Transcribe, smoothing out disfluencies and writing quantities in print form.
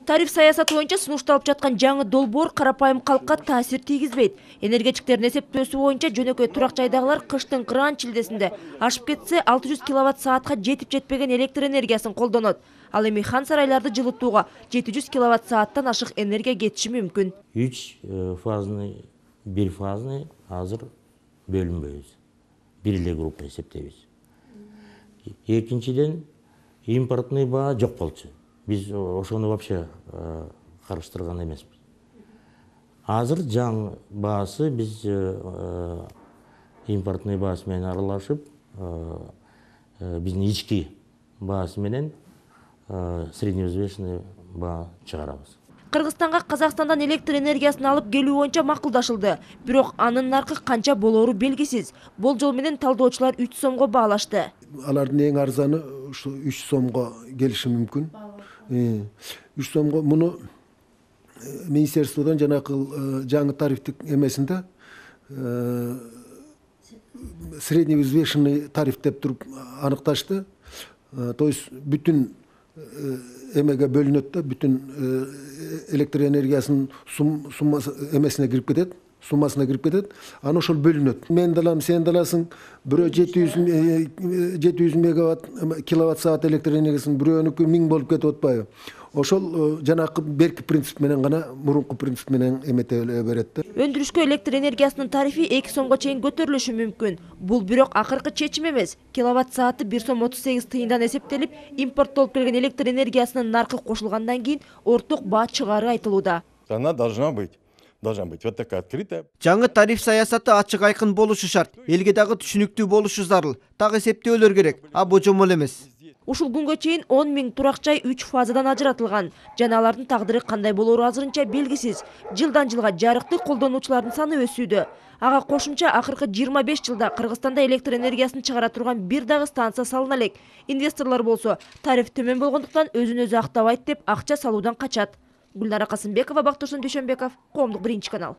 Тариф саясаты боюнча сунушталып жаткан жаңы долбоор карапайым калкка таасир тийгизбейт. Энергетиктердин эсептөөсү боюнча жөнөкөй турак жайдагылар кыштын кыран-чилдесинде ашып кетсе 600 киловатт-саатка жетип жетпеген электр энергиясын колдонот. Ал эми хан сарайларды жылытууга 700 киловатт-сааттан ашык энергия кетиши мүмкүн. 3 фазный, 1 фазный азыр бөлүнбөйбүз. Бир эле группа эсептейбиз. Экинчиден импортный баа жок болчу. Biz ошону вообще карыштырган эмеспиз. Азыр жаңы баасы биз импортный баасы менен аралашып, биздин ички баасы менен средневзвешенный баа чыгарабыз. Кыргызстанга Казакстандан электр энергиясын алып келүү боюнча макулдашылды. Бирок анын наркы канча болоору белгисиз. Болжол менен талдоочулар 3 сомго баалашты. Алардын эң арзаны ушу 3 сомго келиши мүмкүн. 3 сомго муну министерстводон жанакы жаңы тарифтик эмесинде средневзвешенный тариф деп туруп аныкташты. То есть бүтүн эмеге бөлүнөт да, бүтүн электр энергиясынын суммасы эмесине кирип кетет, суммасына кирип кетет. Аны ошол бөлүнөт. Мен далам, сен даласың, бирөө 700 мегаватт киловатт саат электр энергиясын бирөөнүкү 1000 болуп кетип атпайбы? Ошол жанакы берки принцип менен гана мурунку принцип менен эмете берет да. Өндүрүшкө электр энергиясынын тарифи 2 сомго чейин көтөрүлүшү мүмкүн. Бул бирок акыркы чечим эмес. Киловатт сааты 1 сом 38 тыйындан эсептелип, импорттолуп келген электр энергиясынын наркы кошулгандан кийин орток баа чыгаары айтылууда. Она должна быть вот такая открытая. Жаңы тариф саясаты ачык айкын болушу шарт. Элге дагы түшүнүктүү болушу зарыл. Так эсептөөлөр керек, а божомол эмес. Ушул күнгө чейин 10 000 турак жай 3 фазадан ажыратылган. Жана алардын тагдыры кандай болоору азырынча белгисиз. Жылдан жылга жарыкты колдонуучулардын саны өсүүдө. Ага кошумча акыркы 25 жылда Кыргызстанда электр энергиясын чыгара турган бир дагы станция салына элек. Инвесторлор болсо тариф төмөн болгондуктан өзүн өзү актабайт деп акча салуудан качат. Гүлнара Касымбекова, Бактурсун Дүйшөнбеков, Коомдук 1 канал.